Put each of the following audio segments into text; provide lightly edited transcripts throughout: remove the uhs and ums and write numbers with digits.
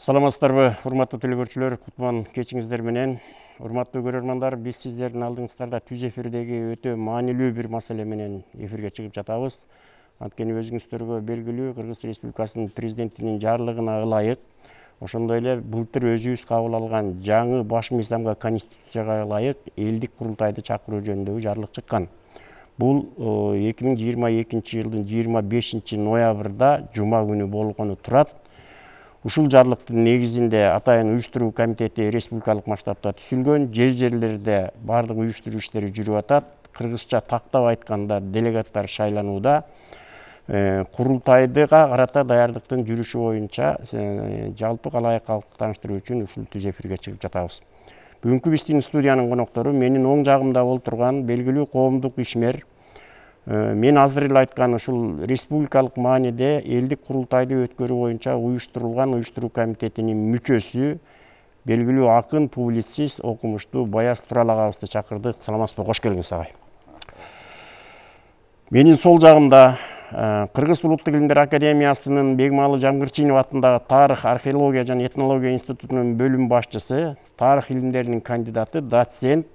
Саламатсыздарбы, урматтуу телекөрүүчүлөр, кутман кечиңиздер менен. Урматтуу көрөрмандар, биз сиздердин алдыңыздарда түз эфирдеги өтө маанилүү бир маселе менен эфирге чыгып жатабыз. Анткени өзүңүздөргө белгилүү, Кыргыз Республикасынын президентинин жарлыгына ылайык, ошондой эле былтыр өзүбүз кабыл алган жаңы баш мыйзамга, конституцияга ылайык элдик курултайды чакыруу жөнүндөгү жарлык чыккан. Бул 2022 жылдын 25 ноябрда жума күнү болгону турат. Ушул жарлыктын негизинде атайын уюштуруу комитети республикалык масштабта түзүлгөн, жерлерде бардык уюштуруу иштери жүрүп атат. Кыргызча тактап айтканда делегаттар шайланууда. Курултайга карата даярдыктын жүрүшү боюнча жалпы калайык калкты тааныштыруу үчүн ушул түз эфирге чыгып жатабыз. Бүгүнкү биздин студиянын коноктору менин оң жагымда отурган белгилүү коомдук ишмер. Мен азыр эле айткан ушул республикалык мааниде элдик курултайды өткөрүү боюнча уюштурулган уюштуруу комитетинин мүчөсү, белгилүү акын, публицист, окумуштуу Баяз Турал агабызды чакырдык. Саламатсызбы, кош келиңиз агай. Менин сол жагымда Кыргыз улуттук илимдер академиясынын Бегмалы Жамгырчинов атындагы тарых, археология жана этнология институтунун бөлүм башчысы, тарых илимдеринин кандидаты, доцент.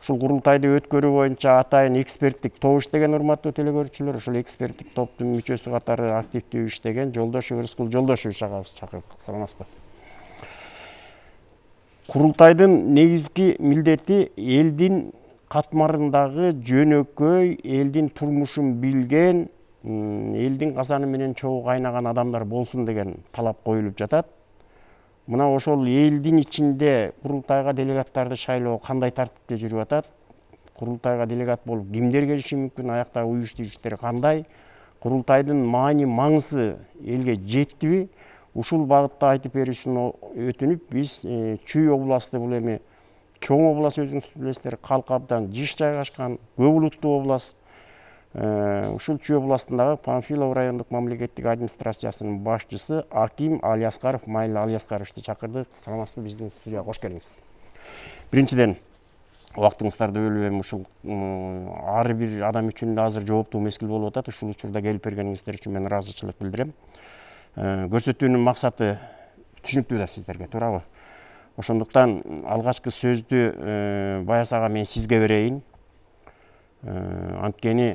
Ушул курултайды өткөрүү боюнча атайын эксперттик топ иштеген, урматтуу телекөрүүчүлөр. Ушул эксперттик топтун мүчөсү катары активдүү иштеген Жолдошов Рыскул Жолдошович агабызды чакырдык. Саламатсызбы. Курултайдын негизги милдети элдин катмарындагы жөнөкөй, элдин турмушун билген, элдин казаны менен чогуу кайнаган адамдар болсун деген талап коюлуп жатат. Мына ошол элдин ичинде курултайга делегаттарды шайлоо кандай тартипте жүрүп атат? Курултайга делегат болуп кимдер келиши мүмкүн? Аяктагы уюштуу иштери кандай? Курултайдын маани, маңызы элге жеттиби? Ушул багытта айтып беришин өтүнүп, биз Чүй областы, бул эми чоң област, өзүңүз билесиздер, калкы абдан жыш жайгашкан, көп улуттуу област. Ушул Чүй областындагы Панфилов райондук мамлекеттик администрациясынын башчысы Аким Алияскаров, Майыл Алияскаровичти чакырдык. Саламатсызбы, биздин студияга кош келиңиз. Биринчиден, убактыңыздарды бөлүп, эми ушул ар бир адам үчүн азыр жооптуу мезгил болуп атат. Ушул учурда келип бергениңиздер үчүн мен ыраазычылык билдирем. Көрсөтүүнүн максаты түшүнүктүү да сиздерге, туурабы? Ошондуктан алгачкы сөздү Баяз ага мен сизге берейин. Анткени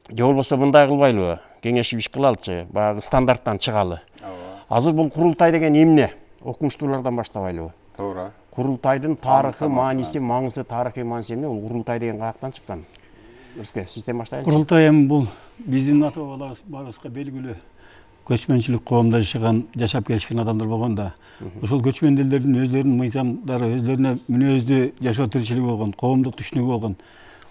же болбосо мындай кылбайлыбы? Кеңешип иш кылалычы, баягы стандарттан чыгалы. Азыр бул курултай деген эмне? Окумуштуулардан баштабайлыбы? Туура. Курултайдын тарыхы, мааниси, маңызы, тарыхый мааниси эмне? Бул курултай деген каяктан чыккан? Өрүскө, сизден баштайлычы. Курултай эми бул биздин ата-бабаларыбызга белгилүү көчмөнчүлүк коомдо жашап келишкен адамдар болгондо, ошол көчмөн элдердин өзлөрүнүн мыйзамдары, өзлөрүнө мүнөздүү жашоо тиричилиги болгон, коомдук түшүнүгү болгон.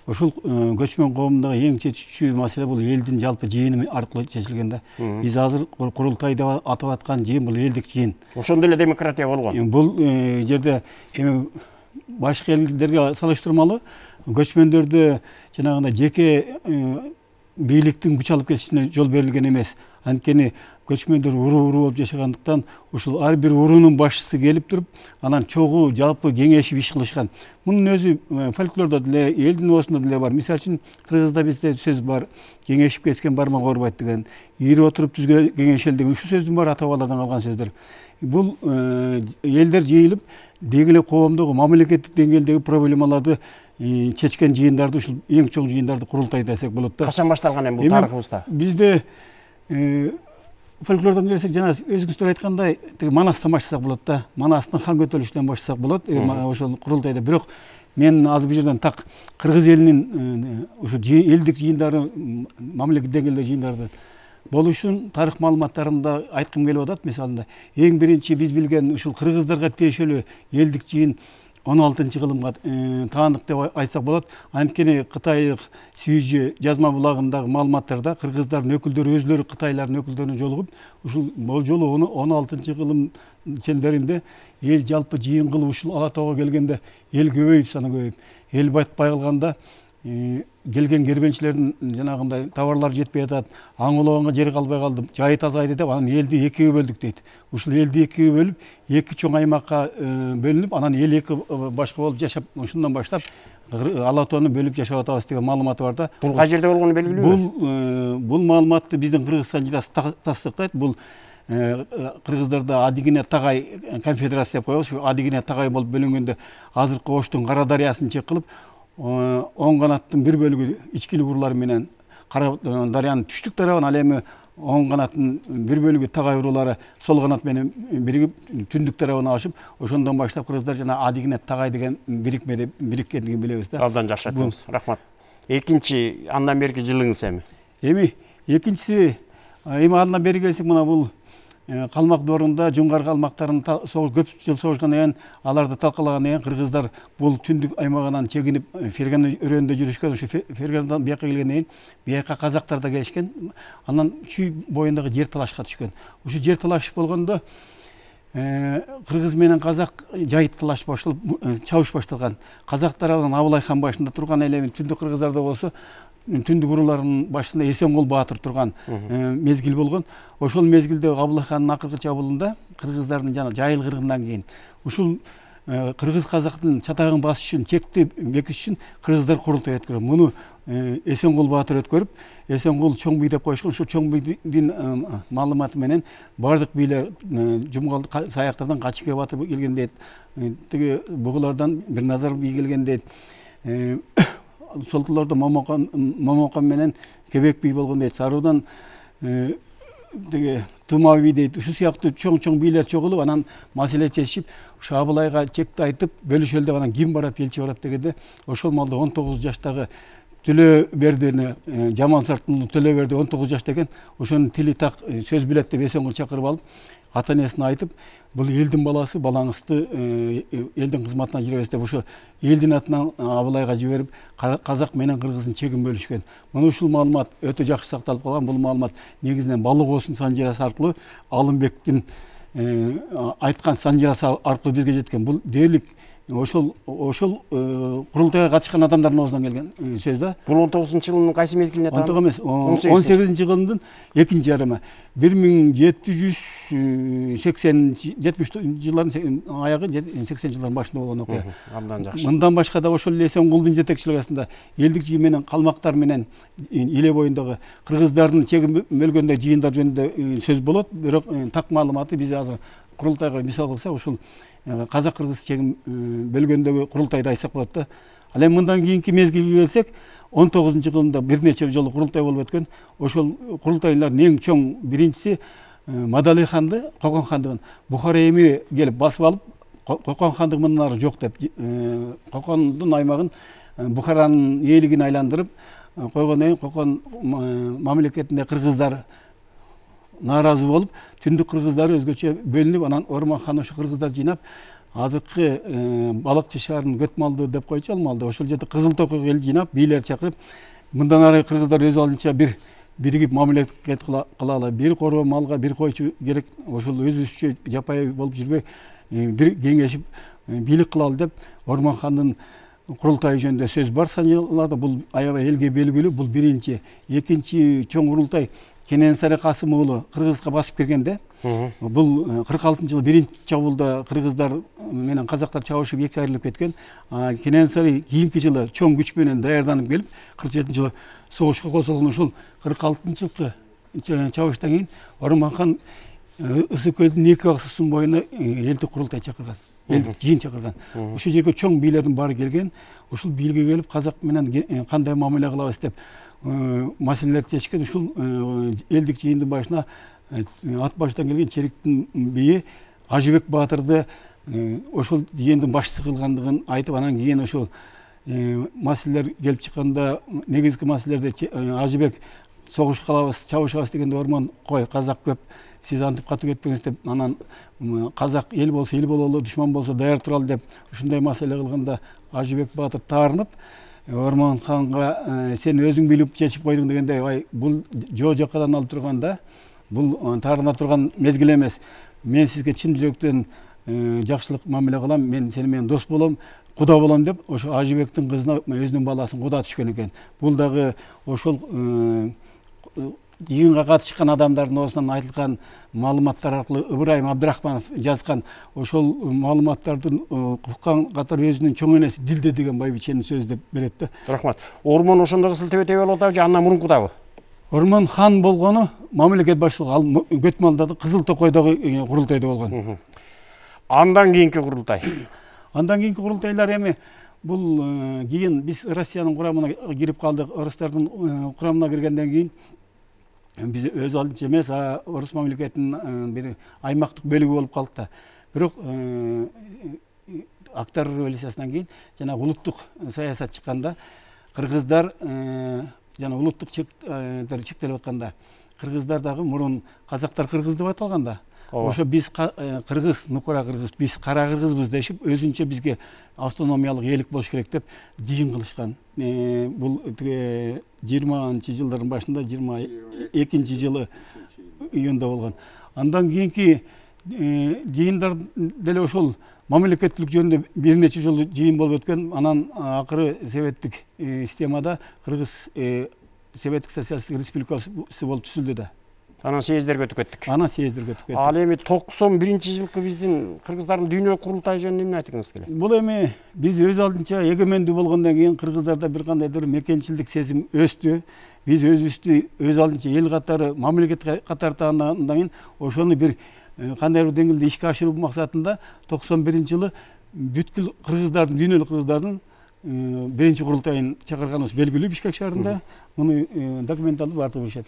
Ошол көчмөн коомундагы эң чечүүчү маселе бул элдин жалпы жыйыны аркылуу чечилген да. Биз азыр курултай деп атап аткан жыйын бул элдик жыйын. Ошондо эле демократия болгон. Бул жерде эми башка элдерге салыштырмалуу көчмөндөрдө жанагындай жеке бийликтин күч алып кетишине жол берилген эмес. Анткени көчмөндөр уруу болуп жашагандыктан ушул ар бир уруунун башчысы келип туруп, анан чогуу жалпы кеңешип иш кылышкан. Мунун өзү фольклордо деле, элдин оосунда деле бар. Мисалы үчүн кыргызда бизде сөз бар: кеңешип кеткен бармак оорубайт деген, ири отуруп түзгө кеңешел деген. Ушул сөздүн баары ата-бабалардан калган сөздөр. Бул элдер жыйылып, деги эле коомдогу мамлекеттик деңгээлдеги проблемаларды чечкен жыйындарды, ушул эң чоң жыйындарды курултай десек болот да. Качан башталган эми бул тарыхыбызда? Бизде фольклордон келсек, жана өзүңүздөр айткандай, Манастан баштасак болот да. Манастын хан көтөрүлүшүнөн баштасак болот. Ошол курултайда. Бирок мен азыр бул жерден так кыргыз элинин ушу элдик жыйындары, мамлекеттик деңгээлдеги жыйындарды болушун тарых маалыматтарында айткым келип атат. Мисалында эң биринчи биз билген ушул кыргыздарга тиешелүү элдик жыйын 16-кылымга таандык деп айтсак болот. Анткени кытайлык Сүйжү жазма булагындагы маалыматтарда кыргыздардын өкүлдөрү өзлөрү кытайлардын өкүлдөрүнө жолугуп, ушул жолу 16-кылым чендеринде эл жалпы жыйын кылып ушул Ала тоого келгенде эл көбөйүп, саны көбөйүп, эл батпай калганда келген кербенчилердин жанагындай товарлар жетпей атат, аң улоонго жер калбай калды, жайы тазайды деп, анан элди экиге бөлдүк дейт. Ушул элди экиге бөлүп, эки чоң аймакка бөлүнүп, анан эл эки башка болуп жашап, ушундан баштап Ала тоону бөлүп жашап атабыз деген маалыматы бар да. Бул кай жерде болгону белгилүүбү? Бул маалыматты биздин Кыргызстан жыйнасы тастыктайт. Бул кыргыздарда Адигине Тагай конфедерация деп коебуз. Адигине Тагай болуп бөлүнгөндө азыркы Оштун Кара дарыясын чек кылып, оң канаттын бир бөлүгү ичкилик уруулары менен Кара дарыянын түштүк тарабын, ал эми оң канаттын бир бөлүгү Тагай уруулары сол канат менен биригип түндүк тарабына ашып, ошондон баштап кыргыздар жана Адигине Тагай деген бирикмеде бириккендигин билебиз да. Абдан жакшы айттыңыз. Рахмат. Экинчи андан берки жылыңыз эми? Эми экинчиси андан бери келсек, мына бул калмак дорунда жунгар калмактарын көп жыл согушкандан кийин аларды талкалагандан кийин кыргыздар бул түндүк аймагынан чегинип Фергана өрөөнүндө жүрүшкөн. Ушу Ферганадан бияка келгенден кийин бияка казактар да келишкен. Анан Чүй боюндагы жер талашка түшкөн. Ушу жер талаш болгондо кыргыз менен казак жайыт талаш башталып, чабыш башталган. Казак тарабынан Абылай хан башында турган, эле түндүк кыргыздарда болсо түндүк урууларынын башында Эсенгул баатыр турган мезгил болгон. Ошол мезгилде Абылай хандын акыркы чабуулунда кыргыздардын жана жайыл кыргындан кийин ушул кыргыз казактын чатагын басыш үчүн, чекти бекитиш үчүн кыргыздар курултай өткөргөн. Муну Эсенгул баатыр өткөрүп, Эсенгул чоң бий деп коюшкан. Ушул чоң бийдин маалыматы менен бардык бийлер Жумгал саяктардан Качыке баатыр келген дейт. Тиги бугулардан Бирназар бий келген дейт. Солтуларда Момокон менен Кебек бий болгон дейт. Саруудан Тума бий дейт. Ушу сыяктуу чоң бийлер чогулуп, анан маселе чечишип, ушу Абылайга чекти айтып, бөлүшөлү деп, анан ким барат, элчи барат дегенде, ошол маалда 19 жаштагы Төлөбердини, Жамал Сартулуу Төлөберди 19 жашта экен. Ошонун тили так сөз билет деп Эсенгул чакырып алып, ата энесине айтып, бул элдин баласы, балаңызды элдин кызматына жиберебиз деп, ошо элдин атынан Абылайга жиберип, казак менен кыргыздын чегин бөлүшкөн. Мына ушул маалымат өтө жакшы сакталып калган. Бул маалымат негизинен Балык Оосун санжирасы аркылуу, Алымбектин айткан санжирасы аркылуу бизге жеткен. Бул дээрлик ошол курултайга катышкан адамдардын оозунан келген сөз да. Бул 19-жылдын кайсы мезгилине таандык? Эмес, 18-жылдын экинчи жарымы. 1770 жылдардын аягы, 80 жылдардын башында болгон окуя. Абдан жакшы. Мындан башка да ошол Эсенгулдун жетекчилиги астында элдикчи менен калмактар менен Иле боюндагы кыргыздардын чегин бөлгөндө жыйындар жөнүндө сөз болот. Бирок так маалыматы биз азыр курултайга мисал кылсак, ушул казак-кыргыз чегин бөлгөндөгү курултайды айтсак болот да. Ал эми мындан кийинки мезгилге келсек, 19-жылында бир нече жолу курултай болуп өткөн. Ошол курултайлардын эң чоң биринчиси Мадалый ханды, Кокон хандыгын Бухара эмири келип басып алып, Кокон хандыгы мындан ары жок деп, Кокондун аймагын Бухаранын ээлигине айландырып койгондон кийин Кокон мамлекетинде кыргыздар нааразы болуп, түндүк кыргыздары өзгөчө бөлүнүп, анан Орман хан ошо кыргыздар жыйнап, азыркы Балыкчы шаарынын Көтмалды деп койчу, ал маалда ошол жерде Кызыл Токойго эл жыйнап, бийлер чакырып, мындан ары кыргыздар өз алдынча биригип мамлекет кылалы, бир короо малга бир койчу керек, ошол өзүбүзчө жапайы болуп жүрбөй, бир кеңешип бийлик кылалы деп Орман хандын курултайы жөнүндө сөз бар санжыларда. Бул аябай элге белгилүү. Бул биринчи. Экинчи чоң курултай Кененсары Касым уулу Кыргызга басып киргенде, бул 46-жылы биринчи чабуулда кыргыздар менен казактар чабышып эки айрылып кеткен. Кененсары кийинки жылы чоң күч менен даярданып келип, 47-жылы согушка кошулган. Ушул 46-жылкы чабыштан кийин Орман хан Ысык көлдүн эки аксысынын боюна элдик курултай чакырган, элдик жыйын чакырган. Ушул жерге чоң бийлердин баары келген. Ушул бийликке келип, казак менен кандай мамиле кылабыз деп маселелерди чечишкен. Ушул элдик жыйындын башына ат баштан келген Чериктин бийи Ажыбек баатырды ошол жыйындын башчысы кылгандыгын айтып, анан кийин ошол маселелер келип чыкканда, негизги маселелерде Ажыбек согуш кылабыз, чабышабыз дегенде Орман кой, казак көп, сиз антип катуу кетпеңиз деп, анан казак эл болсо эл бололу, душман болсо даяр туралы деп ушундай маселе кылганда Ажыбек баатыр таарынып, Орман ханга сен өзүң билип чечип койдуң дегенде, бул жакадан алып турганда, бул таарына турган мезгил эмес. Мен сизге чын жүрөктөн жакшылык мамиле кылам, мен сени менен дос болом, куда болом деп, ошо Ажыбектин кызына өзүнүн баласын куда түшкөн экен. Бул дагы ошол жыйынга катышкан адамдардын оозунан айтылган маалыматтар аркылуу Ыбырайым Абдрахманов жазган, ошол маалыматтардын уккан катары өзүнүн чоң энеси Дилде деген байбиченин сөзү деп берет да. Рахмат. Ормон ошондогу сылтебе болуп атабы же андан мурункудабы? Орман-хан болгону мамлекет башчылыгы, ал Көтмалдагы Кызыл Токойдогу курултайда болгон. Андан кийинки курултай. Андан кийинки курултайлар эми бул кийин биз Россиянын курамына кирип калдык. Орустардын курамына киргенден кийин биз өз алдынча эмес, орус мамлекетинин бир аймактык бөлүгү болуп калдык да. Бирок Октябрь революциясынан кийин жана улуттук саясат чыкканда кыргыздар жана улуттук чектелип атканда кыргыздар дагы мурун казактар кыргыз деп аталганда, ошо биз кыргыз, нукура кыргыз, биз кара кыргызбыз дешип, өзүнчө бизге автономиялык элик болуш керек деп жыйын кылышкан. Бул 20-жылдардын башында 22-жылы июнда болгон. Андан кийинки жыйындар деле ошол мамлекеттүүлүк жөнүндө бир нече жолу жыйын болуп өткөн. Анан акыры советтик системада Кыргыз Советтик социалисттик республикасы болуп түзүлдү да. Анан съездерге өтүп кеттик. Ал эми 91-жылкы биздин кыргыздардын дүйнөлүк курултайы жөнүндө эмне айткыңыз келет? Бул эми биз өз алдынча эгемендүү болгондон кийин кыргыздарда бир кандайдыр мекенчилдик сезим өстү. Биз өзүбүздү өз алдынча эл катары, мамлекет катары тааныгандан кийин ошону бир кандайдыр деңгээлде ишке ашыруу максатында 91-жылы бүткүл кыргыздардын, дүйнөлүк кыргыздардын биринчи курултайын чакырганыбыз белгилүү Бишкек шаарында. Муну документалдуу баардыгы билишет.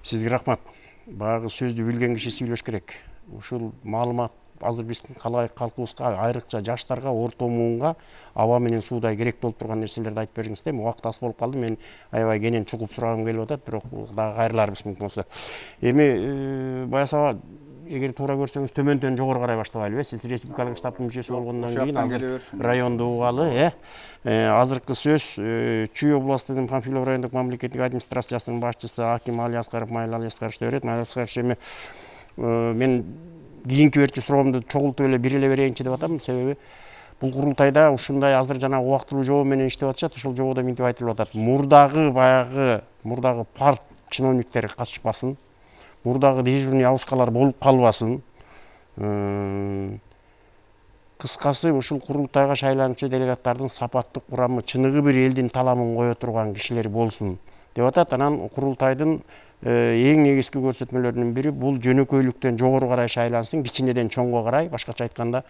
Сизге рахмат. Баягы сөздү билген киши сүйлөш керек. Ушул маалымат азыр биздин калкыбызга, айрыкча жаштарга, орто муунга аба менен суудай керек болуп турган нерселерди айтып бериңиз да. Убакыт аз болуп калды. Мен аябай кенен чукуп сурагым келип атат, бирок дагы кайрыларбыз мүмкүн болсо. Эми Баясаба, эгер туура көрсөңүз төмөндөн жогору карай баштабайлыбы? Сиз республикалык штабтын мүчөсү болгондон кийин азыр районду угалы, азыркы сөз Чүй областынын Панфилов райондук мамлекеттик администрациясынын башчысы Аким Али Аскаров, Майыл Али Аскаровичте берет. Майыл Аскарович, эми мен кийинки берчү суроомду чогултуп эле бир эле берейинчи деп атам. Себеби бул курултайда ушундай азыр жана убактылуу жобо менен иштеп атышат. Ошол жободо мынтип айтылып атат: мурдагы парт чиновниктери катышпасын, мурдагы дежурный алышкалар болуп калбасын. Кыскасы, ушул курултайга шайлануучу делегаттардын сапаттык курамы чыныгы бир элдин таламын кое турган кишилер болсун деп атат. Анан курултайдын эң негизги көрсөтмөлөрүнүн бири бул жөнөкөйлүктөн жогору карай шайлансын, кичинеден чоңго карай, башкача айтканда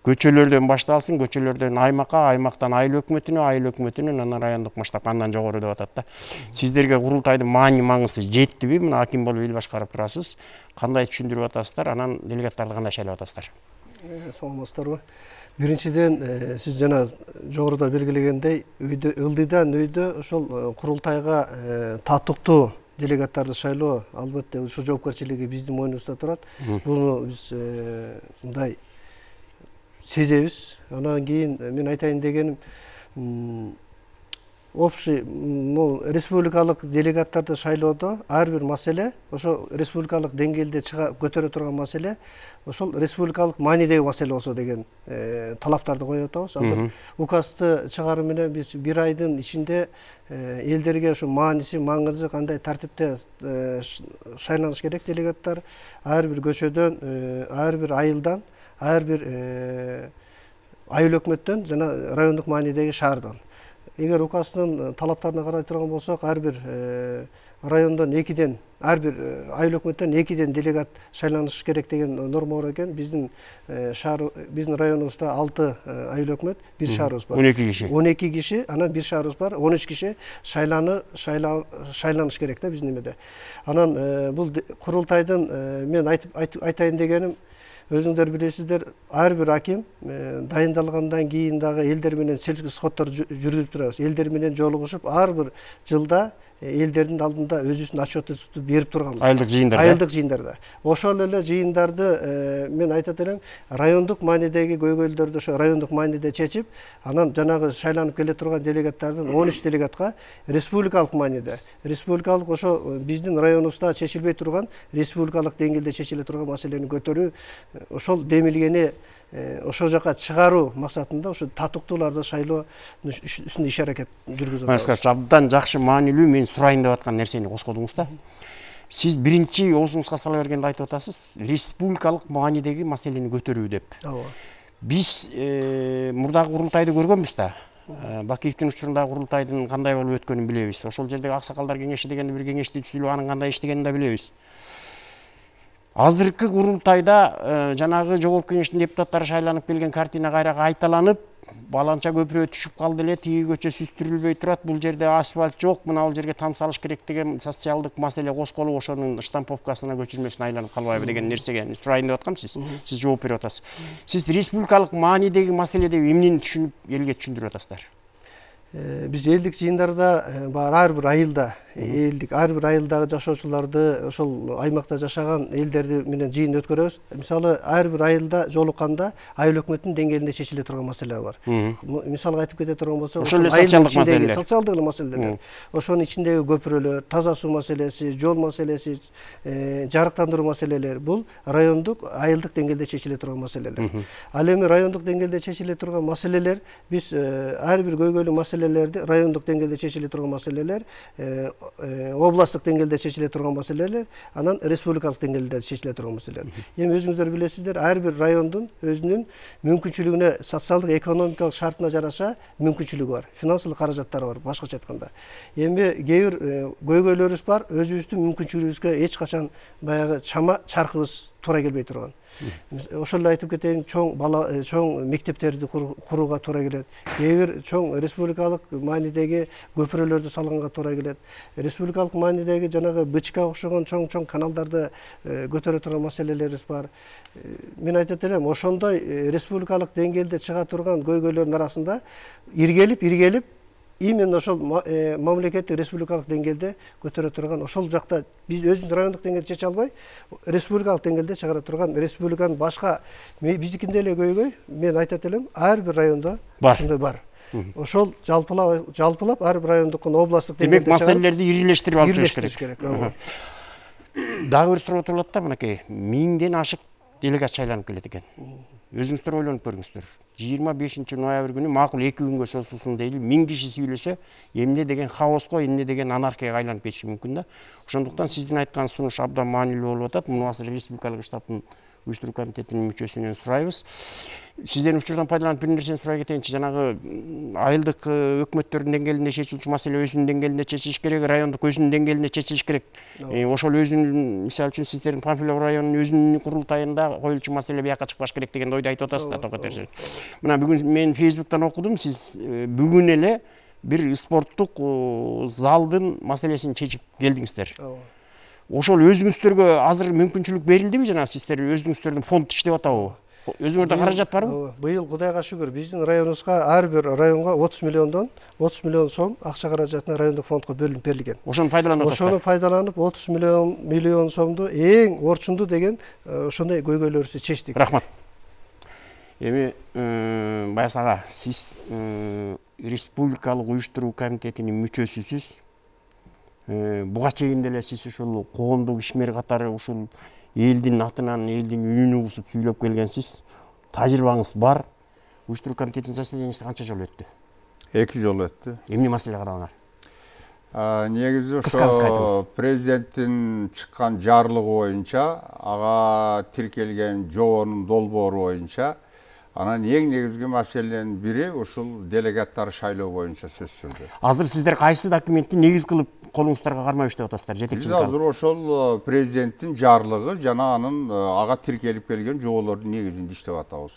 көчөлөрдөн башталсын, көчөлөрдөн аймакка, аймактан айыл өкмөтүнө, анан райондук масштаб, андан жогору деп атат да. Сиздерге курултайдын маңызы жеттиби? Мына Аким болуп эл башкарып турасыз. Кандай түшүндүрүп атасыздар? Анан делегаттарды кандай шайлап атасыздар? Саламатсыздарбы? Биринчиден, сиз жана жогоруда белгилегендей, ылдыйдан өйдө ошол курултайга татыктуу делегаттарды шайлоо албетте ушул жоопкерчилиги биздин мойнубузда турат. Буну биз мындай сезебиз. Анан кийин мен айтайын дегеним, общий республикалык делегаттарды шайлоодо ар бир маселе, ошо республикалык деңгээлде көтөрө турган маселе, ошол республикалык маанидеги маселе болсо деген талаптарды коюп атабыз. Азыр указды чыгаруу менен биз бир айдын ичинде элдерге ошо мааниси, маңызы кандай тартипте шайланыш керек делегаттар ар бир көчөдөн, ар бир айылдан, ар бир айыл өкмөттөн жана райондук маанидеги шаардан. Эгер указдын талаптарына карай турган болсок, ар бир райондон 2ден, ар бир айыл өкмөттөн 2ден делегат шайланыш керек деген норма бар экен. Биздин районубузда 6 айыл өкмөт, бир шаарыбыз бар. 12 киши, анан бир шаарыбыз бар, 13 киши шайланыш керек да биздин эмеде. Анан бул курултайдын мен айтайын дегеним, өзүңдөр билесиздер, ар бир аким дайындалгандан кийин дагы элдер менен селский сходдор жүргүзүп турабыз. Элдер менен жолугушуп, ар бир жылда элдердин алдында өзүбүздүн отчетубузду берип турганбыз. Айылдык жыйындарда. Ошол эле жыйындарды мен айтат элем, райондук маанидеги көйгөйлдөрдү ошо райондук мааниде чечип, анан жанагы шайланып келе турган делегаттардын 13 делегатка республикалык мааниде, республикалык ошо биздин районубузда чечилбей турган, республикалык деңгээлде чечиле турган маселени көтөрүү, ошол демилгени ошол жака чыгаруу максатында ошо татыктууларды шайлоо үстүндө иш-аракет жүргүзүп атабыз. Абдан жакшы, маанилүү, мен сурайын деп аткан нерсени козгодуңуз да. Сиз биринчи оозуңузга сала бергенде айтып атасыз, республикалык маанидеги маселени көтөрүү деп. Биз мурдагы курултайды көргөнбүз да. Бакиевдин учурундагы курултайдын кандай болуп өткөнүн билебиз. Ошол жердеги аксакалдар кеңеши дегенди бир кеңешти түзүлүп, анын кандай иштегенин да билебиз. Азыркы курултайда жанагы жогорку кеңештин депутаттары шайланып келген картина кайра кайталанып, баланча көпүрө түшүп калды эле, тиги көчө сүстүрүлбөй турат, бул жерде асфальт жок, мына бул жерге там салыш керек деген социалдык маселе козголуп, ошонун штамповкасына көчүрмөсүнө айланып калбайбы деген нерсеге сурайын деп аткам. Сиз жооп берип атасыз. Сиз республикалык маанидеги маселеде эмнени түшүнүп, элге түшүндүрүп атасыздар? Биз элдик жыйындарда ар бир айылда ар бир айылдагы жашоочуларды, ошол аймакта жашаган элдерди менен жыйын өткөрөбүз. Мисалы, ар бир айылда жолукканда айыл өкмөтүнүн деңгээлинде чечиле турган маселе бар. Мисалга айтып кете турган болсок, ошол социалдык маселелер, социалдык маселелер, ошонун ичиндеги көпүрөлөр, таза суу маселеси, жол маселеси, жарыктандыруу маселелери бул райондук, айылдык деңгээлде чечиле турган маселелер. Ал эми райондук деңгээлде чечиле турган маселелер, биз ар бир көйгөйлүү маселелерди райондук деңгээлде чечиле турган маселелер, областтык деңгээлде чечиле турган маселелер, анан республикалык деңгээлде чечиле турган маселелер. Эми өзүңүздөр билесиздер, ар бир райондун өзүнүн мүмкүнчүлүгүнө, социалдык, экономикалык шартына жараша мүмкүнчүлүгү бар, финансылык каражаттары бар, башкача айтканда. Эми кээ бир көйгөйлөрүбүз бар, өзүбүздүн мүмкүнчүлүгүбүзгө эч качан баягы чама чаркыбыз туура келбей турган. Ошол эле айтып кетейин, чоң мектептерди курууга туура келет. Кээ бир чоң республикалык маанидеги көпүрөлөрдү салганга туура келет. Республикалык маанидеги жанагы БЧК окшогон чоң каналдарды көтөрө турган маселелерибиз бар. Мен айтат элем, ошондой республикалык деңгээлде чыга турган көйгөйлөрдүн арасында иргелип именно ошол мамлекеттик республикалык деңгээлде көтөрө турган, ошол жакта биз өзүбүз райондук деңгээлде чече албай, республикалык деңгээлде чыгара турган, республиканын башка биздикинде эле көйгөй, мен айтат элем, ар бир райондо ушундай бар. Ошол жалпылап ар бир райондукун областтык деңгээлде демек маселелерди ирилештирип алып жүрүш керек. Дагы бир суроо турулат да, мынакей 1000ден ашык делегат шайланып келет экен. Өзүңүздөр ойлонуп көрүңүздөр. 25 ноябрь күнү макул 2 күнгө созулсун дейли, 1000 киши сүйлөсө, эмне деген хаоска, эмне деген анархияга айланып кетиши мүмкүн да. Ошондуктан сиздин айткан сунуш абдан маанилүү болуп атат. Муну азыр республикалык штабтын уюштуруу комитетинин мүчөсүнөн сурайбыз. Сизден учурдан пайдаланып бир нерсени сурай кетейинчи. Жанагы айылдык өкмөттөрдүн деңгээлинде чечилчү маселе өзүнүн деңгээлинде чечилиш керек, райондук өзүнүн деңгээлинде чечилиш керек. Ошол өзүнүн, мисалы үчүн сиздердин Панфилов районунун өзүнүн курултайында коюлчу маселе бияка чыкпаш керек деген ойду айтып атасыз да, Токот Эржер. Мына бүгүн мен Facebook'тан окудум, сиз бүгүн эле бир спорттук залдын маселесин чечип келдиңиздер. Ошол өзүңүздөргө азыр мүмкүнчүлүк берилдиби, жана сиздер өзүңүздөрдүн фонд иштеп атабы? Өзүңөрдө каражат барбы? Быйыл Кудайга шүгүр биздин районубузга ар бир районго 30 миллион сом акча каражатына райондук фондко бөлүнүп берилген. Ошону пайдаланып атасыздар. Ошону пайдаланып 30 миллион сомду эң орчундуу деген ошондой көйгөйлөрүбүздү чечтик. Рахмат. Эми Баяс ага, сиз республикалык уюштуруу комитетинин мүчөсүсүз. Буга чейин деле сиз ушул коомдук ишмер катары ушул элдин атынан, элдин үнүн угусуп сүйлөп келгенсиз. Тажрыйбаңыз бар. Уюштуруу комитетинин заседаниясы канча жолу өттү? 2 жолу өттү. Эмне маселе каралган? Негизи ошо президенттин чыккан жарлыгы боюнча, ага тиркелген жобонун долбоору боюнча, анан эң негизги маселенин бири ушул делегаттар шайлоо боюнча сөз сүрдү. Азыр сиздер кайсы документти негиз кылып колуңуздарга кармай иштеп атасыздар? Жетекчилик алып. Азыр ошол президенттин жарлыгы жана анын ага тиркелип келген жоболордун негизинде иштеп атабыз.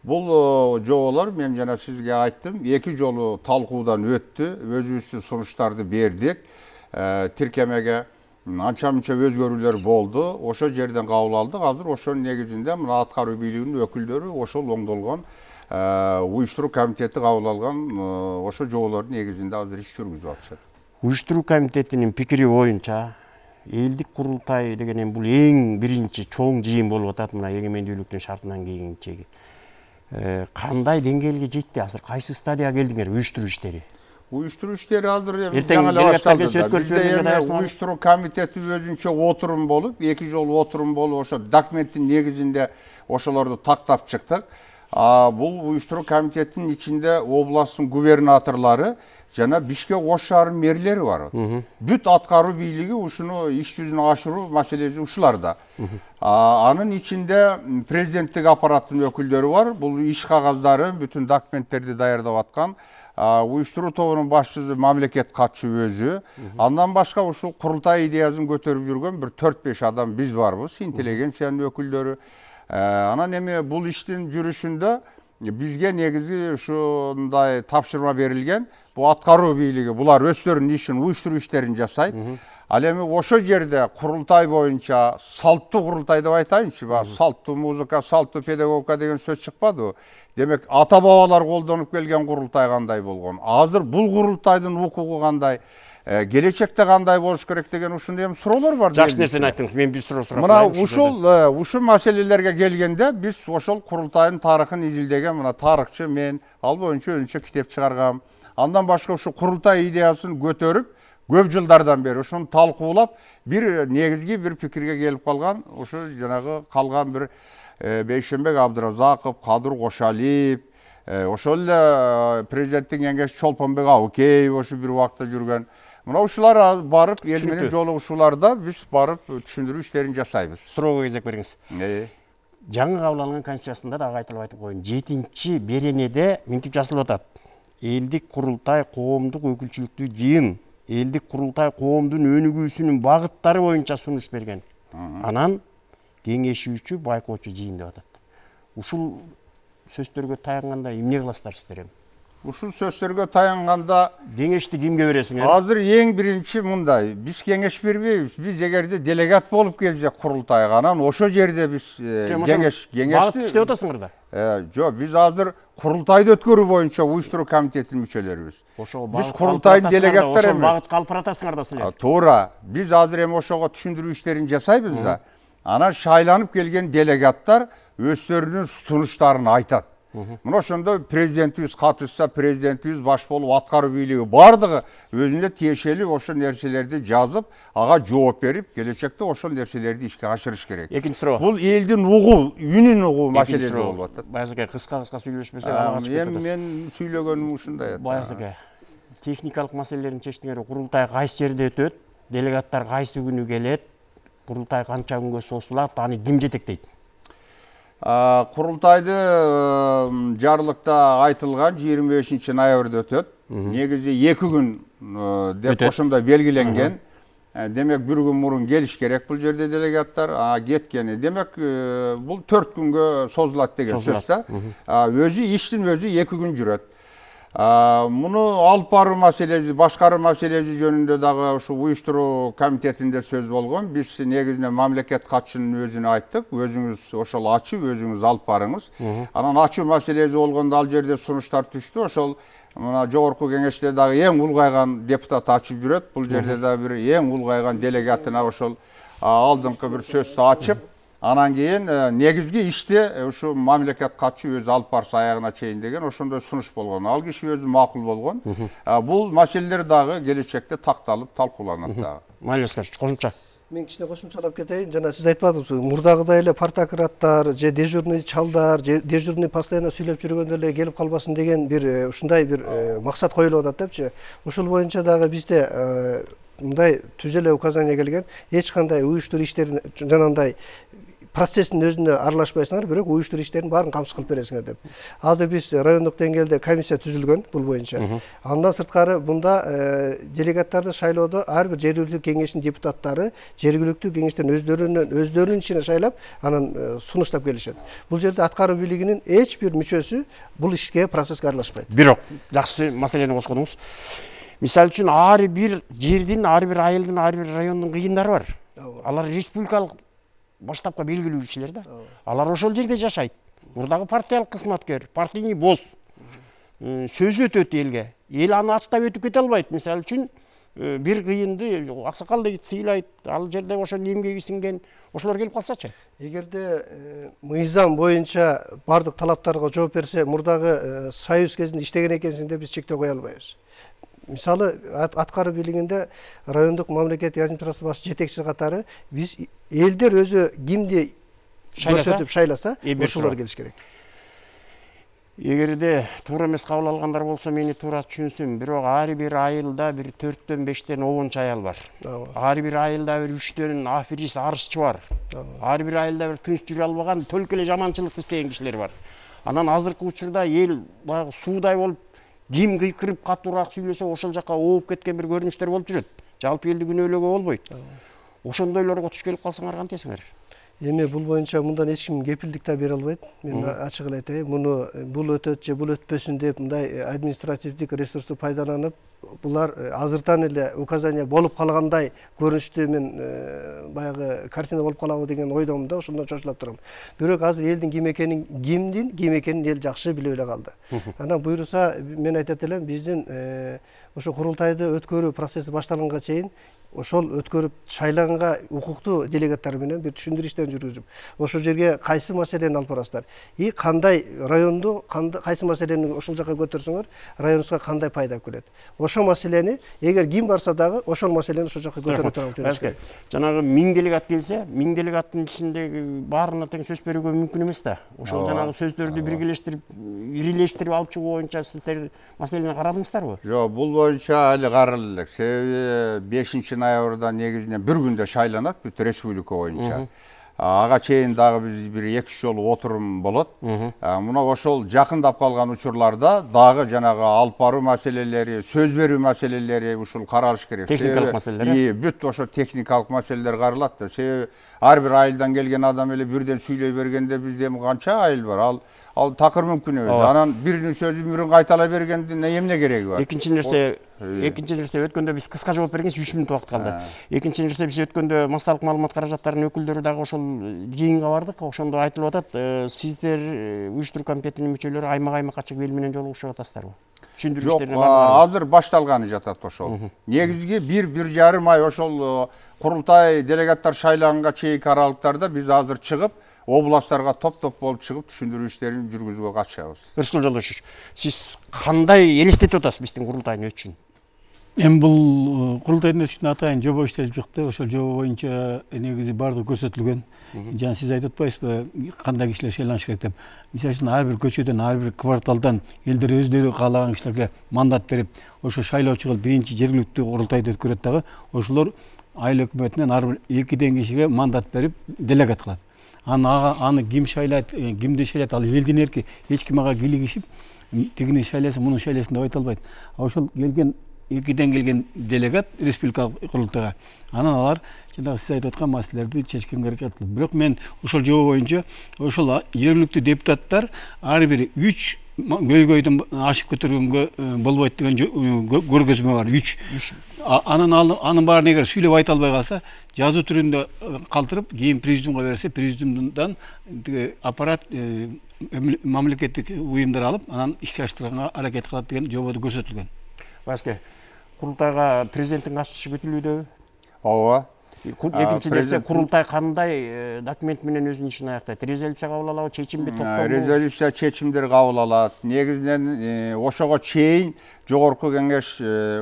Бул жоболор мен жана сизге айттым, 2 жолу талкуудан өттү, өзүбүздүн сунуштарды бердик. Тиркемеге анча-мынча өзгөрүүлөр болду. Ошо жерден кабыл алдык. Азыр ошонун негизинде мына аткаруу бийлигинин өкүлдөрү ошол оңдолгон уюштуруу комитети кабыл алган ошо жоболордун негизинде азыр иш жүргүзүп атышат. Уюштуруу комитетинин пикири боюнча элдик курултай деген бул эң биринчи чоң жыйын болуп атат мына эгемендүүлүктүн шартынан кийинчеги. Кандай деңгээлге жетти азыр? Кайсы стадияга келдиңер уюштуруу иштери? Уюштуруу иштери азыр жаңы эле башталды. Бизде уюштуруу комитети өзүнчө отурум болуп, 2 жолу отурум болуп, ошо документтин негизинде ошолорду тактап чыктык. Бул уюштуруу комитетинин ичинде областтын губернаторлору жана Бишкек ош шаарынын мэрлери бар. Бүт аткаруу бийлиги ушуну иш жүзүнө ашыруу маселеси ушуларда. Анын ичинде президенттик аппараттын өкүлдөрү бар. Бул иш кагаздары, бүтүн документтерди даярдап аткан уюштуруу тобунун башчысы мамлекет катчы өзү. Андан башка ушул курултай идеясын көтөрүп жүргөн бир 4-5 адам биз барбыз, интеллигенциянын өкүлдөрү. Анан эми бул иштин жүрүшүндө бизге негизи ушундай тапшырма берилген. Бул аткаруу бийлиги булар өздөрүнүн ишин, уюштуруу иштерин жасайт. Ал эми ошо жерде курултай боюнча салттуу курултай деп айтайынчы, салттуу музыка, салттуу педагогика деген сөз чыкпадыбы? Демек, ата бабалар колдонуп келген курултай кандай болгон? Азыр бул курултайдын укугу кандай? Келечекте кандай болуш керек деген ушундай эми суроолор бар. Жакшы нерсени айттыңыз. Мен бир суроо сурап мына ушул маселелерге келгенде биз ошол курултайдын тарыхын изилдеген мына тарыхчы мен ал боюнча өзүнчө китеп чыгаргам. Андан башка ушу курултай идеясын көтөрүп көп жылдардан бери ушуну талкуулап бир негизги бир пикирге келип калган ушу жанагы калган бир Бейшенбек Абдыразаков, Кадыр Кошалиев, ошол эле президенттин кеңешчиси Чолпонбек Абыкеев ошо бир убакта жүргөн. Мына ушулар барып эл менен жолугушууларда биз барып түшүндүрүү иштерин жасайбыз. Суроого кезек бериңиз. Жаңы кабыл алынган конституциясында да айтылып айтып коеюн. 7-беренеде мынтип жазылып атат. Элдик курултай коомдук өкүлчүлүктүү жыйын, элдик курултай коомдун өнүгүүсүнүн багыттары боюнча сунуш берген. Анан кеңешүүчү, байкоочу жыйын деп атат. Ушул сөздөргө таянганда эмне кыласыздар сиздер? Ушул сөздөргө таянганда кеңешти кимге бересиңер? Азыр эң биринчи мындай, биз кеңеш бербейбиз. Биз эгерде делегат болуп келсек курултайга, анан ошо жерде биз кеңешти багыт иштеп атасыңар да? Жок, биз азыр курултайды өткөрүү боюнча уюштуруу комитетинин мүчөлөрүбүз. Биз курултайдын делегаттары эмес. Багыт калып баратасыңар да силер. Туура. Биз азыр эми ошого түшүндүрүү иштерин жасайбыз да. Анан шайланып келген делегаттар өздөрүнүн сунуштарын айтат. Мына ошондо президентибиз катышса, президентибиз баш болуп аткаруу бийлиги бардыгы өзүнө тиешелүү ошо нерселерди жазып, ага жооп берип, келечекте ошол нерселерди ишке ашырыш керек. Экинчи суроо. Бул элдин угуу, үнүн угуу маселеси болуп атат. Баягы кыска сүйлөшпөсөк ага чыгып атат. Мен сүйлөгөнүм ушундай. Баягы техникалык маселелерин чечтиңер. Курултай кайсы жерде өтөт? Делегаттар кайсы күнү келет? Курултай канча күнгө созулат? Аны ким жетектейт? Курултайды жарлыкта айтылган 25 ноябрда өтөт. Негизи 2 күн деп ошондо белгиленген. Демек 1 күн мурун келиш керек бул жерде делегаттар, кеткени. Демек бул 4 күнгө созулат деген сөз да. Өзү иштин өзү 2 күн жүрөт. Муну алып баруу маселеси, башкаруу маселеси жөнүндө дагы ушу уюштуруу комитетинде сөз болгон. Биз негизинен мамлекет катчынын өзүнө айттык. Өзүңүз ошол ачып, өзүңүз алып барыңыз. Анан ачуу маселеси болгондо ал жерде сунуштар түштү. Ошол мына жогорку кеңеште дагы эң улгайган депутат ачып жүрөт. Бул жерде да бир эң улгайган делегатына ошол алдыңкы бир сөздү ачып, анан кийин негизги ишти ушу мамлекет катчы өзү алып барса аягына чейин деген ошондой сунуш болгон. Ал киши өзү макул болгон. Бул маселелер дагы келечекте такталып, талкууланат дагы. Майлескер, кошумча. Мен кичине кошумчалап кетейин. Жана сиз айтпадыңызбы, мурдагыдай эле партократтар же дежурный чалдар, же дежурный постоянно сүйлөп жүргөндө эле келип калбасын деген бир ушундай бир максат коюлуп атат депчи. Ушул боюнча дагы бизде мындай түз эле указание келген. Эч кандай уюштуруу иштерин жанагындай процесстин өзүнө аралашпайсыңар, бирок уюштуруу иштерин баарын камсыз кылып бересиңер деп. Азыр биз райондук деңгээлде комиссия түзүлгөн бул боюнча. Андан сырткары мында делегаттарды шайлоодо ар бир жергиликтүү кеңештин депутаттары жергиликтүү кеңештердин өздөрүнүн ичине шайлап, анан сунуштап келишет. Бул жерде аткаруу бийлигинин эч бир мүчөсү бул ишке, процесске аралашпайт. Бирок жакшы маселени козгодуңуз. Мисалы үчүн ар бир жердин, ар бир айылдын, ар бир райондун кыйындары бар. Алар республикалык баштапка белгилүү кишилер да. Алар ошол жерде жашайт. Мурдагы партиялык кызматкер, партийный босс. Сөз өтөт элге. Эл аны аттап өтүп кете албайт. Мисалы үчүн бир кыйынды аксакал дейт, сыйлайт. Ал жерде ошол эмгеги сиңген ошолор келип калсачы. Эгерде мыйзам боюнча бардык талаптарга жооп берсе, мурдагы союз кезинде иштеген экенсиң деп биз чектөө кое албайбыз. Мисалы, аткаруу бийлигинде райондук мамлекеттик администрация баш жетекчиси катары биз элдер өзү кимди көрсөтүп шайласа, ошолор келиш керек. Эгерде туура эмес кабыл алгандар болсо, мени туура түшүнсүн, бирок ар бир айылда бир 4-5 обончу аял бар. Ар бир айылда бир 3 аферист, арызчы бар. Ар бир айылда бир тынч жүрө албаган, төлкө эле жаманчылыкты истеген кишилер бар. Анан азыркы учурда эл баягы суудай болуп ким кыйкырып катуураак сүйлөсө ошол жака ооп кеткен бир көрүнүштөр болуп жүрөт. Жалпы элди күнөөлөөгө болбойт. Ошондойлорго туш келип калсаңар кантесиңер? Эми бул боюнча мындан эч ким кепилдик да бере албайт. Мен ачык эле айтайын, бул өтөт же бул өтпөсүн деп мындай административдик ресурсту пайдаланып, булар азыртан эле указание болуп калгандай көрүнүштү мен баягы картина болуп калабы деген ойдомун да, ошондон чочулап турам. Бирок азыр элдин ким экенин эл жакшы билип эле калды. Анан буйруса мен айтат элем, биздин ошо курултайды өткөрүү процесси башталганга чейин ошол өткөрүп шайлаганга укуктуу делегаттар менен бир түшүндүрүү иштерин жүргүзүп, ошол жерге кайсы маселени алып барасыздар и кандай районду кайсы маселени ошол жака көтөрсөңөр районубузга кандай пайда келет. Ошол маселени эгер ким барса дагы ошол маселени ошол жака көтөрө турган. Жанагы 1000 делегат келсе, 1000 делегаттын ичиндеги баарына тең сөз берүүгө мүмкүн эмес да. Ошол жанагы сөздөрдү биргелештирип, ирилештирип алып чыгуу боюнча сиздер маселени карадыңыздарбы? Жок, бул боюнча али каралып элек. Себеби 5-ноябрда негизинен бир күндө шайланат бүт республика боюнча. Ага чейин дагы биз бир 2 жолу отурум болот. Мына ошол жакындап калган учурларда дагы жанагы алып баруу маселелери, сөз берүү маселелери ушул каралыш керек. Техникалык маселелер. Бүт ошо техникалык маселелер каралат да. Себеби ар бир айылдан келген адам эле бирден сүйлөй бергенде бизде канча айыл бар. Ал такыр мүмкүн эмес. Анан биринин сөзүн бирин кайталай бергендин эмне кереги бар? Экинчи нерсе өткөндө биз кыска жооп бергенбиз, 3 мүнөт убакыт калды. Экинчи нерсе биз өткөндө массалык маалымат каражаттарынын өкүлдөрү дагы ошол жыйынга бардык. Ошондо айтылып атат, сиздер уюштуруу комитетинин мүчөлөрү аймакка чыгып эл менен жолугушуп атасыздарбы? Түшүндүрүү иштерине бардыңарбы? Азыр башталганы жатат ошол. Негизги 1-1,5 ай ошол курултай делегаттар шайлаганга чейинки аралыктарда биз азыр чыгып областтарга топ-топ болуп чыгып түшүндүрүү иштерин жүргүзүүгө катышабыз. Рыскул Жолдошевич, сиз кандай элестетип атасыз биздин курултайдын өтүшүн? Эми бул курултайдын өтүшүнө атайын жобо иштелип чыкты. Ошол жобо боюнча негизи бардыгы көрсөтүлгөн. Жана сиз айтып атпайсызбы, кандай кишилер шайланыш керек деп. Мисалы үчүн ар бир көчөдөн, ар бир кварталдан элдер өздөрү каалаган кишилерге мандат берип, ошо шайлоочу кылып биринчи жергиликтүү курултайды өткөрөт дагы. Ошолор айыл өкмөтүнөн ар бир 2 кишиге мандат берип делегат кылат. Аны ким шайлайт, кимди шайлайт, ал элдин эрки. Эч ким ага килигишип, тигини шайласын, муну шайласын деп айта албайт. Ошол келген 2ден келген делегат республикалык курултайга, анан алар жанагы сиз айтып аткан маселелерди чечкенге аракет кылат. Бирок мен ошол жобо боюнча ошол жергиликтүү депутаттар ар бир 3 көйгөйдөн ашып көтөргөнгө болбойт деген көргөзмө бар. 3. Анын баарын эгер сүйлөп айта албай калса, жазуу түрүндө калтырып, кийин президиумга берсе, президиумдан аппарат мамлекеттик уюмдар алып, анан ишке аштырганга аракет кылат деген жободо көрсөтүлгөн. Башка курултайга президенттин катышышы күтүлүүдөбү? Ооба. Экинчи нерсе, курултай кандай документ менен өзүнүн ишин аяктайт? Резолюция кабыл алабы, чечимби, токтомбу? Резолюция, чечимдер кабыл алат. Негизинен ошого чейин жогорку кеңеш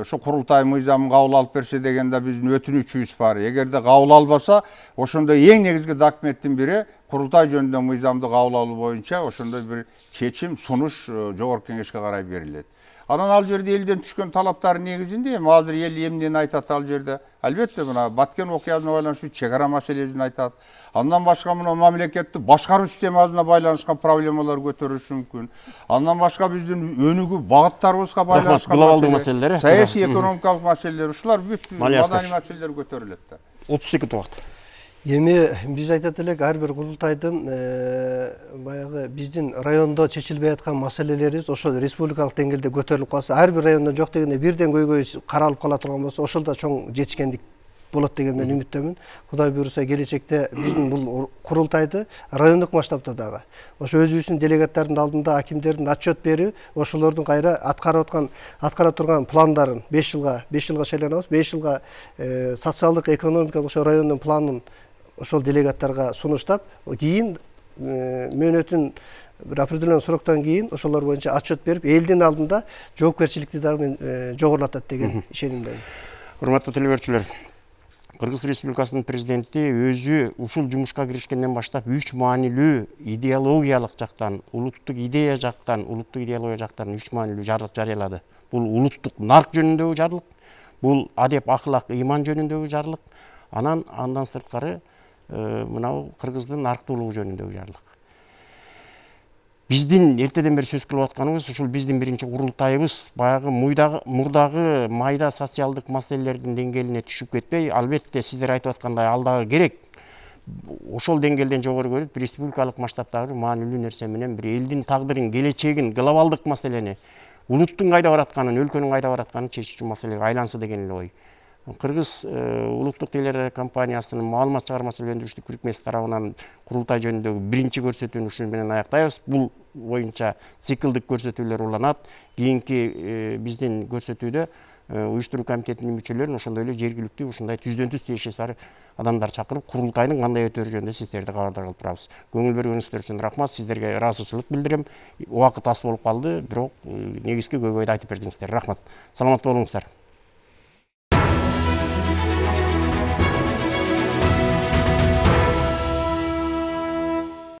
ошо курултай мыйзамын кабыл алып берсе дегенде биздин өтүнүчүбүз бар. Эгерде кабыл албаса, ошондо эң негизги документтин бири курултай жөнүндө мыйзамды кабыл алуу боюнча ошондой бир чечим, сунуш жогорку кеңешке карай берилет. Анан ал жерде элден түшкөн талаптардын негизинде азыр эл эмнени айтат ал жерде? Албетте мына Баткен окуясына байланыштуу чек ара маселесин айтат. Андан башка мына мамлекеттик башкаруу системасына байланышкан проблемалар көтөрүлүшү мүмкүн. Андан башка биздин өнүгүү багыттарыбызга байланышкан глобалдуу маселелер, саясий экономикалык маселелер, ушулар бүт маданий маселелер көтөрүлөт да. 30 секунд убакыт. Эми биз айтат элек, ар бир курултайдын баягы биздин райондо чечилбей аткан маселелерибиз ошол республикалык деңгээлде көтөрүлүп калса, ар бир райондо жок дегенде бирден көйгөй каралып кала турган болсо, ошол да чоң жетишкендик болот деген мен үмүттөмүн. Кудай буйруса келечекте биздин бул курултайды райондук масштабта дагы ошо өзүбүздүн делегаттардын алдында акимдердин отчет берүү, ошолордун кайра аткара турган пландарын 5 жылга шайланабыз, 5 жылга социалдык экономикалык ошо райондун планын ошол делегаттарга сунуштап, кийин мөөнөтүн бир определенный сроктон кийин ошолор боюнча отчет берип, элдин алдында жоопкерчиликти дагы мен жогорулатат деген ишенимдемин. Урматтуу телебөрчүлөр, Кыргыз Республикасынын президенти өзү ушул жумушка киришкенден баштап 3 маанилүү идеологиялык жактан, улуттук идея жактан, улуттук идеология жактан 3 маанилүү жарлык жарыялады. Бул улуттук нарк жөнүндөгү жарлык, бул адеп, ахлак, ыйман жөнүндөгү жарлык, андан сырткары мынау кыргыздын нарктуулугу жөнүндөгү жарлык. биздин эртеден бери сөз кылып атканыбыз ушул биздин биринчи курултайыбыз баягы мурдагы майда социалдык маселелердин деңгээлине түшүп кетпей, албетте сиздер айтып аткандай ал дагы керек. Ошол деңгээлден жогору көрүп, республикалык масштабтагы маанилүү нерсе менен бир элдин тагдырын, келечегин, глобалдык маселени, улуттун кайда баратканын, өлкөнүн кайда баратканын чечүүчү маселеге айланса деген эле ой. Кыргыз улуттук телерадио компаниясынын маалымат чыгармачылык өндүрүштүк бирикмеси тарабынан курултай жөнүндөгү биринчи көрсөтүүнү ушун менен аяктайбыз. Бул боюнча циклдык көрсөтүүлөр уланат. Кийинки биздин көрсөтүүдө уюштуруу комитетинин мүчөлөрүн, ошондой эле жергиликтүү ушундай түздөн түз тиешеси бар адамдар чакырып, курултайдын кандай өтөөрү жөнүндө сиздерди кабардар кылып турабыз. Көңүл бергениңиздер үчүн рахмат. Сиздерге ыраазычылык билдирем. Убакыт аз болуп калды, бирок негизги көйгөйдү айтып бердиңиздер. Рахмат. Саламатта болуңуздар.